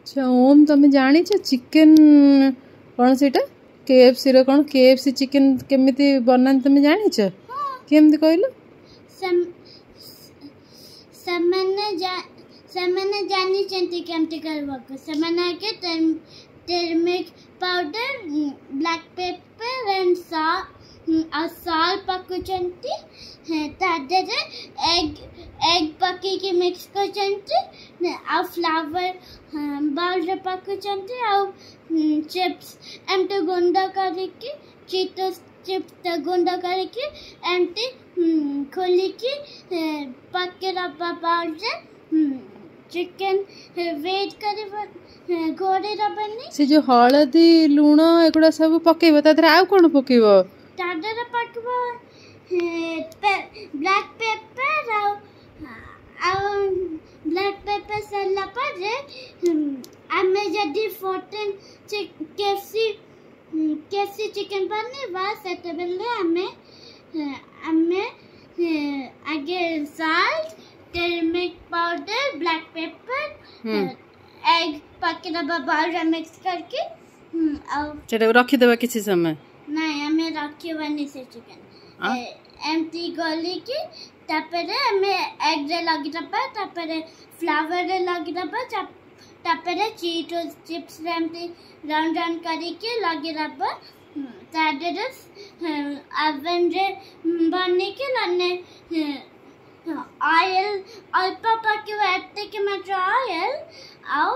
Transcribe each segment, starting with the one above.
ଆଚ୍ଛା ଓମ୍, ତମେ ଜାଣିଛ ଚିକେନ କ'ଣ ସେଇଟା କେଏଫସିର, କ'ଣ କେଏଫସି ଚିକେନ କେମିତି ବନାନ୍ତି ତମେ ଜାଣିଛ? କେମିତି କହିଲ? ସେମାନେ ଜାଣିଛନ୍ତି କେମିତି କରିବାକୁ। ସେମାନେ ଆଗେ turmeric powder, black pepper and ଆଉ ସଲ୍ଟ ପକାଉଛନ୍ତି। ତା ଦେହରେ ଏଗ୍ ପକେଇକି ମିକ୍ସ କରୁଛନ୍ତି ଆଉ ଫ୍ଲାୱାର ବାଉଲରେ ପକାଉଛନ୍ତି ଆଉ ଚିପ୍ସ ଏମିତି ଗୁଣ୍ଡ କରିକି, ଚିଟୋସ୍ ଚିପ୍ସ ଗୁଣ୍ଡ କରିକି ଏମିତି ଖୋଲିକି ପକେଇଦେବା ବାଉଲରେ। ଚିକେନ ୱେଟ୍ କରିବ, ଘୋଡ଼େଇ ଦେବନି। ସେ ଯୋଉ ହଳଦୀ, ଲୁଣ ଏଗୁଡ଼ା ସବୁ ପକେଇବ, ତା ଦେହରେ ଆଉ କ'ଣ ପକେଇବ? ତା ଦେହରେ ପକେଇବ ବ୍ଲାକ୍ ପେପର ଆଉ ବ୍ଲାକ୍ ପେପର ସରିଲା ପରେ ଆମେ ଯଦି 14 କେଏଫସି ଚିକେନ ବନେଇବା, ସେତେବେଳେ ଆମେ ଆଗେ salt, turmeric powder, black pepper, egg ପକେଇଦେବା ବାଉଲରେ ମିକ୍ସ କରିକି ଆଉ ସେଟାକୁ ରଖିଦେବା କିଛି ସମୟ। ନାଇଁ, ଆମେ ରଖିବାନି। ସେ ଚିକେନ ଏମିତି ଗଲିକି ତାପରେ ଆମେ ଏଗ୍ରେ ଲଗେଇଦେବା, ତାପରେ ଫ୍ଲାୱାରରେ ଲଗେଇଦେବା, ତାପରେ ଚିଟୋସ୍ ଚିପ୍ସରେ ଏମିତି ରାଉଣ୍ଡ ରାଉଣ୍ଡ କରିକି ଲଗେଇଦେବା। ତା ଦେହରେ ଓଭେନରେ ବନେଇକି ନହେଲେ ଅଏଲ୍ ଅଳ୍ପ ପକେଇବ, ଏତିକି ମାତ୍ର ଅଏଲ୍ ଆଉ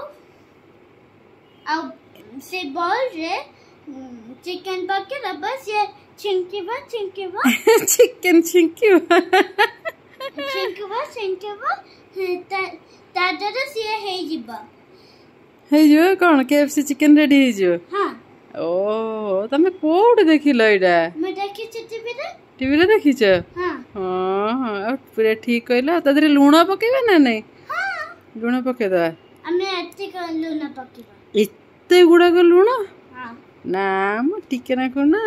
ସେ ବଲ୍ରେ ଚିକେନ ପକେଇଦେବ। ସିଏ ଛିଙ୍କିବ ଛିଙ୍କିବ। ଚିକେନ ଛିଙ୍କିବ। ଛିଙ୍କିବ ଛିଙ୍କିବ, ତା ଦ୍ୱାରା ସିଏ ହେଇଯିବ। ହେଇଯିବ କ'ଣ? କେଏଫସି ଚିକେନ ରେଡି ହେଇଯିବ? ହଁ। ଓ, ତମେ କୋଉଠି ଦେଖିଲ ଏଇଟା? ମୁଁ ଦେଖିଛି ଟିଭିରେ। ଟିଭିରେ ଦେଖିଛ? ହଁ। ହଁ, ଆଉ ପୁରା ଠିକ କହିଲ। ତା ଦେହରେ ଲୁଣ ପକେଇବା ନା ନାଇଁ? ଲୁଣ ପକେଇଦବା। ଆମେ ଏତିକି ଲୁଣ ପକେଇବା। ଏତେ ଗୁଡାକ ଲୁଣ? ନା, ମୁଁ ଟିକେ ନାକୁ ନା।